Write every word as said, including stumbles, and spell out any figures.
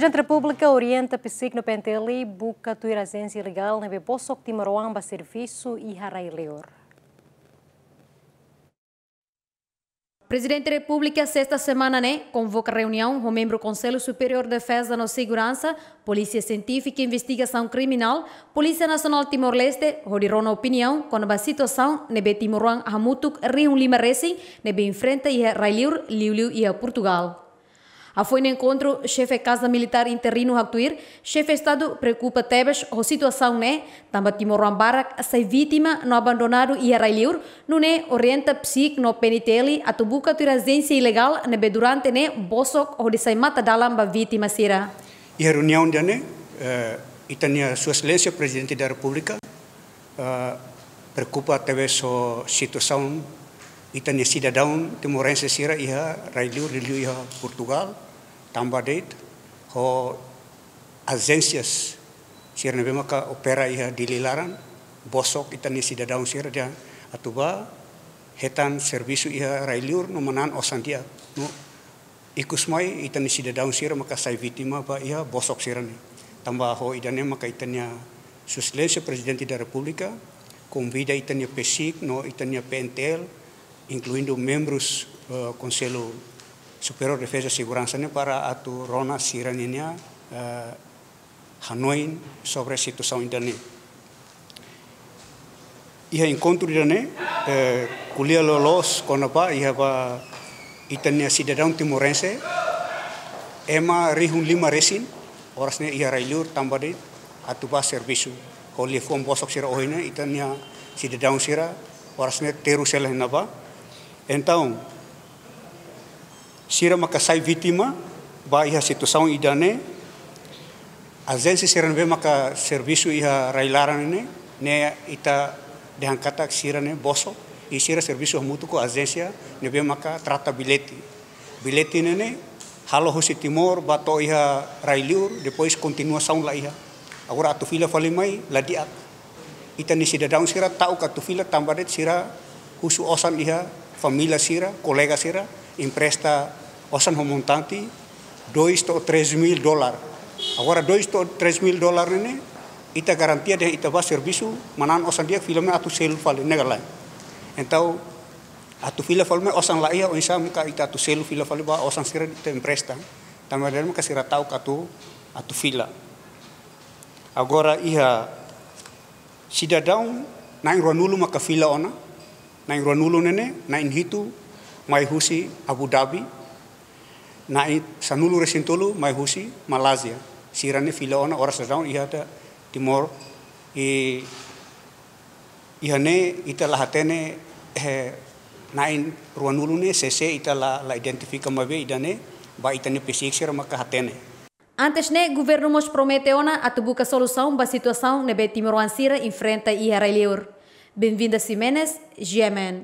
Prezidente Repúblika orienta PCIC no PNTL buka tuir ajénsia ilegál ne'ebé bosok timoroan ba servisu iha rai-liur. Prezidente Repúblika, sesta semana ne'e, konvoka reuniaun ho membru Konsellu Superiór Defeza no Seguransa, Polísia Sientífika i Investigasaun Kriminál, Polísia Nasionál Timor-Leste, hodi rona opiniaun kona-ba situasaun ne'ebé timoroan hamutuk rihun lima resin ne'ebé enfrenta iha rai-liur, liuliu iha Portugál. Hafoin enkontru, Xefe Kaza Militár interinu haktuir, Xefe Estadu preokupa tebes ho situasaun ne'e, tanba timoroan barak sai vítima no abandonadu iha rai-liur, nune'e orienta PCIC no PNTL atu buka tuir ajénsia ilegál ne'ebé durante ne'e bosok hodi sai mata-dalan ba vítima sira. Iha reuniaun ida-ne'e, eh, ita-nia Sua Exelénsia Prezidente da Repúblika, eh, preokupa tebes ho situasaun ita-nia sidadaun timorense sira iha rai-liur, liuliu iha Portugál, tanba de'it ho ajénsias sira ne'ebé maka opera iha Dili laran, bosok ita-nia sidadaun sira dehan atu bá hetan servisu iha rai-liur no manán osan di'ak. No ikus mai ita-nia sidadaun sira maka sai vítima ba iha bosok sira-ne'e. Tanba ho ida-ne'e maka ita-nia Sua Exelénsia Prezidente da Repúblika konvida ita-nia PCIC no ita-nia PNTL, inkluindu membrus, eh, Konsellu Superiór Defeza Seguransa ne'e para atu rona sira-ninia, eh, hanoin sobre situasaun ida-ne'e. Iha enkontru ida-ne'e, eh, ko'alia loloos kona-ba iha ba ita-nia sidadaun timorense, ema rihun lima resin, oras ne'e iha rai-liur tanba de'it atu bá servisu. Ho liafuan bosok sira ohin ne'e, ita-nia sidadaun sira, oras ne'e terus hela iha ne'ebá. Entaun, sira maka sai vítima ba iha situasaun ida-ne'e, ajénsia sira ne'ebé maka servisu iha rai-laran ne'e, ne'e ita dehan katak sira-ne'e bosok, i sira servisu hamutuk ho ajénsia ne'ebé maka trata billete. Billete ne'e ne'e halo husi Timor bá to'o iha rai-liur, depois kontinuasaun la iha. Agora atu fila fali mai la di'ak. Ita-nia sidadaun sira ta'uk atu fila tanba de'it sira husu osan iha família sira, kolega sira, empresta osan ho montante dois to'o três mil dolar. Agora dois to'o três mil dolar ne'e ne'e, ita garantia dehan ita bá servisu, manán osan di'ak, fila mai atu selu fali, ne'e ka lae. Entaun, atu fila fali mai osan la iha, oinsá maka ita atu selu fila fali ba osan sira ita empresta. Tanba de'it maka sira ta'uk atu, atu fila. Agora iha sidadaun na'in ruanulu maka fila ona, na'in ruanulu ne'e ne'e, na'in hitu mai husi Abu Dhabi, na'in sanulu resin tolu mai husi Malázia. Sira-ne'e fila ona oras daudaun iha ita Timor, i iha ne'e ita la hatene, eh, na'in ruanulu ne'e sé-sé, ita la, la identifika, maibé ida-ne'e ba ita-nia PCIC sira maka hatene. Antes ne'e, governu mós promete ona atu buka solusaun ba situasaun ne'ebé timoroan sira enfrenta iha rai-liur. Benvinda Ximenes, G M N.